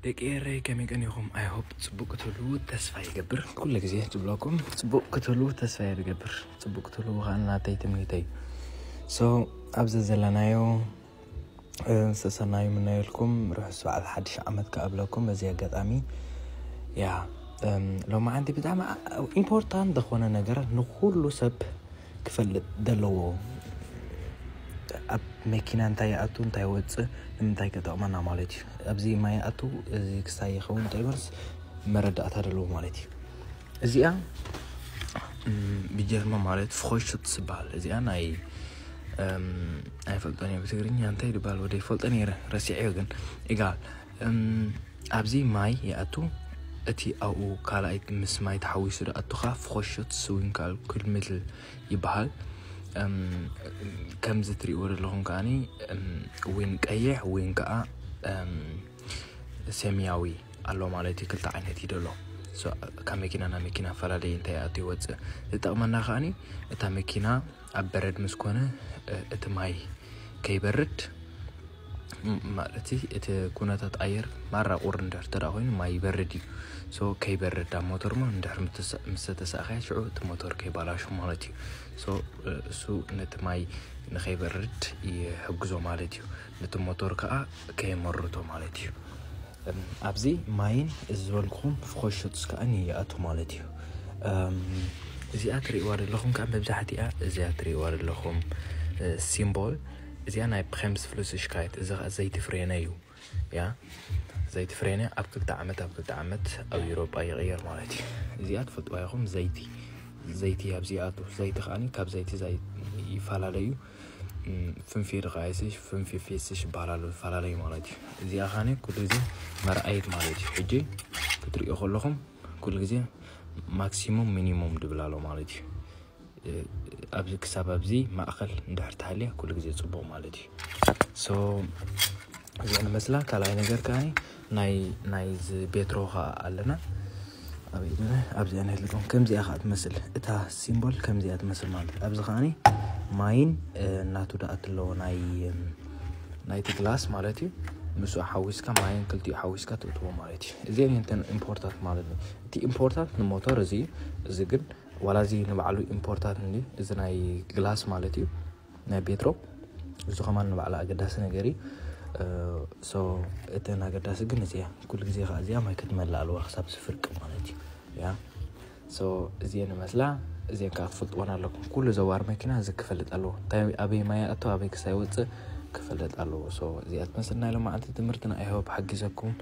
ደቂ ኤረይ ከመይ ቀኒኹም? I hope ጽቡቅ ክትህሉ ተስፋ ይገብር። ኩሉ ግዜ ዝብለኩም ጽቡቅ ክትህሉ ተስፋ ይገብር። ጽቡቅ ክትህሉ ከኣ ናተይ ትምኒተይ። So ኣብዚ ዘለናዮ ሰሰናዩ ምናየልኩም ርሑስ በዓል ሓድሽ ዓመት ከኣብለኩም በዚ ኣጋጣሚ። ያ ሎማዓንቲ ብጣዕሚ ኢምፖርታንት ዝኾነ ነገር ንኩሉ ሰብ ክፈልጥ ዘለዎ፣ ኣብ መኪና እንታይ ይኣቱ እንታይ ይወፅእ ንምንታይ ከጠቕመና ማለት እዩ። ኣብዚ ማይ ይኣቱ፣ እዚ ክስታይ ይኸውን እንታይ ይበልስ መረዳእታ ዘለዎ ማለት እዩ። እዚኣ ብጀርመን ማለት ፍኾሽት ትበሃል። እዚኣ ናይ ኣይፈልጦን እየ ብትግርኛ እንታይ ዝበሃል ወደ ይፈልጦ ነይረ ረሲዐዮ፣ ግን ኢጋል ኣብዚ ማይ ይኣቱ። እቲ ኣብኡ ካልኣይ ምስ ማይ ተሓዊሱ ዝኣቱኻ ፍኾሽት ስዊንካል ኩልምትል ይበሃል። ከምዚ ትሪእዎ ዘለኹም ከዓኒ ዊን ቀይሕ ዊን ከዓ ሰማያዊ ኣሎ ማለት እዩ። ክልተ ዓይነት እዩ ደሎ። ካብ መኪና ናብ መኪና ፈላለየ እንታይ ይኣቱ ይወፅእ ዝጠቕመና ከዓኒ እታ መኪና ኣብ በረድ ምስ ኮነ እቲ ማይ ከይበርድ ማለት እቲ ኩነታት ኣየር ማራ ቁር እንድሕር ተዳ ኮይኑ ማይ ይበርድ እዩ። ሶ ከይበርድ ኣብ ሞተር ሞ እንድሕር ምስ ተሳእኸያ ሽዑ እቲ ሞተር ከይባላሹ ማለት እዩ። ሶ እሱ ነቲ ማይ ንኸይበርድ ይሕግዞ ማለት እዩ። ነቲ ሞተር ከዓ ከየመርቶ ማለት እዩ። ኣብዚ ማይን እዚ ዝበልኩኹም ፍኾሽትስ ከዓ ይኣቱ ማለት እዩ። እዚኣ ትሪእዋ ዘለኹም ከዓ መብዛሕቲኣ እዚኣ ትሪእዋ ዘለኹም ሲምቦል እዚኣ ናይ ፕሬምስ ፍሉስሽካይት እዚ ከዓ ዘይቲ ፍሬነ እዩ። ያ ዘይቲ ፍሬነ ኣብ ክልተ ዓመት ኣብ ክልተ ዓመት ኣብ ኤውሮጳ ይቕየር ማለት እዩ። እዚኣ ትፈልጥዋ ኢኹም ዘይቲ ዘይቲ ኣብዚ ይኣቱ። ዘይቲ ከዓኒ ካብ ዘይቲ ይፈላለዩ። ፍንፊር ቃይስሽ ፍንፊር ፌስሽ ይበሃላሉ፣ ይፈላለዩ ማለት እዩ። እዚኣ ከዓኒ ኩሉ ግዜ መርኣይት ማለት እዩ። ሕጂ ክትሪኦ ከለኹም ኩሉ ግዜ ማክሲሙም ሚኒሙም ድብል ኣሎ ማለት እዩ። ኣብዚ ክሳብ ኣብዚ ማእኸል እንድሕር ተሃልያ ኩሉ ግዜ ፅቡቕ ማለት እዩ። ሶ እዚኣ ንመስላ። ካልኣይ ነገር ከዓ ናይ ናይዚ ቤትሮ ከዓ ኣለና። ኣብዚኣ ናይ ልኩም ከምዚኣ ከዓ ትመስል። እታ ሲምቦል ከምዚኣ ትመስል ማለት እዩ። ኣብዚ ከዓ ማይን እናቱ ደኣ ኣለዎ ናይ ናይቲ ግላስ ማለት እዩ። ምስኡ ሓዊስካ ማይን ክልቲኡ ሓዊስካ ትእትዎ ማለት እዩ። እዚአን እተን ኢምፖርታንት ማለት እዩ። እቲ ኢምፖርታንት ንሞተር እዚ እዩ። እዚ ግን ዋላ እዚ ንባዕሉ ኢምፖርታንት እንዲ እዚ ናይ ግላስ ማለት እዩ ናይ ቤትሮ እዚ ከማን ንባዕሉ ኣገዳሲ ነገር እዩ። ሶ እተን ኣገዳሲ ግን እዚኣ ኩሉ ግዜ ከዓ እዚኣ ማይ ክትመልእ ኣለዋ ክሳብ ዝፍርቂ ማለት እዩ። ያ ሶ እዚአን ይመስላ። እዚአን ከዓ ክፈልጥወን ኣለኩም። ኩሉ ዘዋር መኪና እዚ ክፈልጥ ኣለዎ። እንታይ ኣበይ ማይ ኣቶ ኣበይ ክሳይ ወፅእ ክፈልጥ ኣለዎ። ሶ እዚኣ ትመስል ናይ ሎማዓንቲ ትምህርትና። I hope ሓጊዘኩም።